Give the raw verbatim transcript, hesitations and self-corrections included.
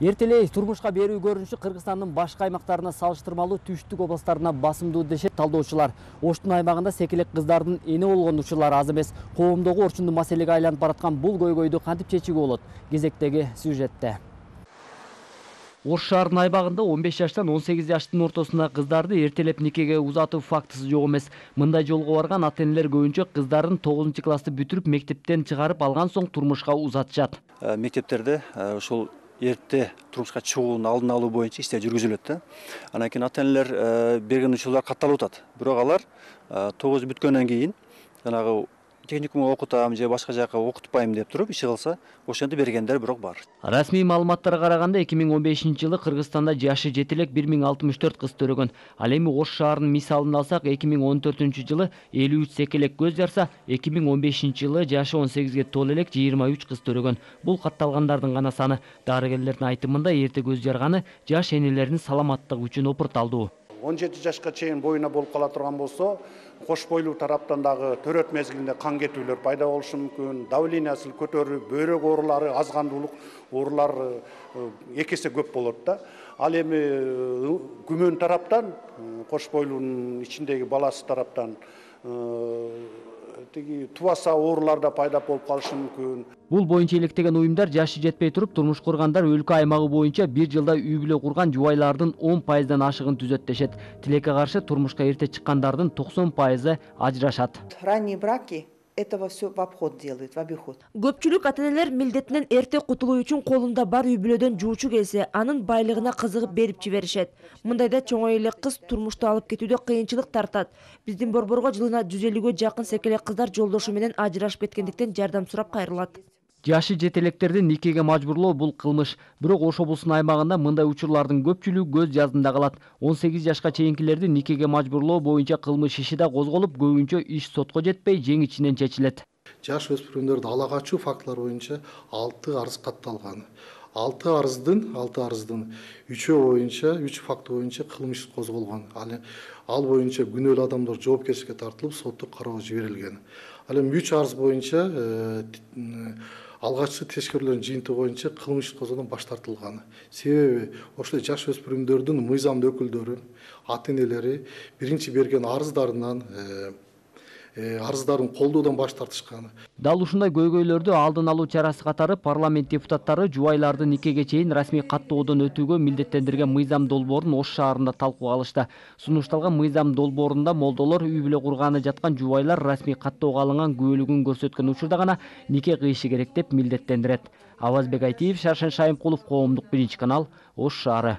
Эртелей турмушка берүү көрүнүшү Кыргызстандын башка аймактарына салыштырмалуу түштүк областтарына басымдуу дешет талдоочулар. Оштун аймагында секелек кыздардын эне болгон учурлары аз эмес. Коомдогу орчундуу маселеге айланып бараткан бул көйгөйдү кантип чечүүгө болот? Кезектеги сюжетте. Ош шаарынын айбагында он беш жаштан он сегиз жаштын ортосундагы кыздарды эртелеп никеге узатуу фактысы жок эмес. Мындай жолго барган ата-энелер көбүнчө кыздарын тогузунчу классты бүтүрүп мектептен чыгарып алган соң турмушка узатышат. Мектептерде ушул эрте турмушка чыгуунун алдын алуу боюнча иштер жүргүзүлөт да. Анан кийин ата-энелер берген учурлар катталып атат. Бирок алар тогуз бүткөндөн кийин жанагы техникумга окутам же башка жака окутпайм деп туруп иши кылса, ошентип бергендер бирок бар. Расмий маалыматтарга караганда эки миң он бешинчи жылы Кыргызстанда жашы жети элек бир миң алтымыш төрт кыз төрөгөн. Ал эми Ош шаарынын мисалын алсак, эки миң он төртүнчү жылы элүү үч секелек көз жарса, эки миң он бешинчи жылы жашы он сегизге толо элек жыйырма үч кыз төрөгөн. Бул катталгандардын гана саны. Дарыгерлердин айтымында эрте көз жарганы жаш энелердин саламаттыгы үчүн опурталдуу. он жети жашка чейин боюна болуп кала турган болсо, кош бойлуу тараптан дагы төрөт мезгилинде кан кетүүлөр пайда болушу мүмкүн, давлениясы көтөрүлүп, бөйрөк оорулары, азгандуулук оорулары эки эсе көп болот да. Ал эми күмөн тараптан, кош бойлуунун ичиндеги баласы тараптан тиги тубаса оорулар да пайда болуп калышы мүмкүн. Бул боюнча иликтеген уюмдар жашы жетпей туруп турмуш кургандар өлкө аймагы боюнча бир жылда үй бүлө курган жубайлардын он пайыздан ашыгын түзөт дешет. Тилекке каршы турмушка эрте чыккандардын токсон пайызы ажырашат. Ранние браки этого все в обход делают, в обиход. Көпчүлүк ата-энелер милдетинен эрте кутулуу үчүн колунда бар үй бүлөдөн жуучу келсе, анын байлыгына кызыгып берип жиберишет. Мындайда чоңой эле кыз турмушту алып кетүүдө кыйынчылык тартат. Биздин борборго жылына жүз элүүгө жакын секелек кыздар жолдошу менен ажырашып кеткендиктен жардам сурап кайрылат. Жашы жетелектерди никеге мажбурлоо бул кылмыш. Бирок Ош облусунун аймагында мындай учурлардын көпчүлүгү көз жаздында калат. он сегиз жашка чейинкилерди никеге мажбурлоо боюнча кылмыш иши да козголуп, көбүнчө иш сотко жетпей, жең ичинен чечилет. Жаш өспүрүмдөрдү ала качуу фактылары боюнча алты арыз катталган. алты арыздын, алты арыздын үчөө боюнча, үч факты боюнча кылмыш козголгон. Ал боюнча күнөөлүү адамдар жоопкерчиликке тартылып, соттук кароого жиберилген. Ал эми үч арыз боюнча алгачкы тескерүүлөрдүн жыйынтыгы боюнча кылмыш козгоодон баш тартылган. Себеби ошол жаш өспүрүмдөрдүн мыйзамдуу өкүлдөрү, ата-энелери биринчи берген арыздарынан арыздарын колдоодон баш тартышкан. Дал ушундай көйгөйлөрдү алдын алуу чарасы катары парламент депутаттары жубайларды никеге чейин расмий каттоодон өтүүгө милдеттендирген мыйзам долбоорун Ош шаарында талкууга алышты. Сунушталган мыйзам долбоорунда молдолор үй бүлө курганы жаткан жубайлар расмий каттоого алынган күбөлүгүн көрсөткөн учурда гана нике кыйышы керек деп милдеттендирет. Авазбек Айтиев, Шаршен Шайымкулов, Коомдук биринчи канал, Ош шаары.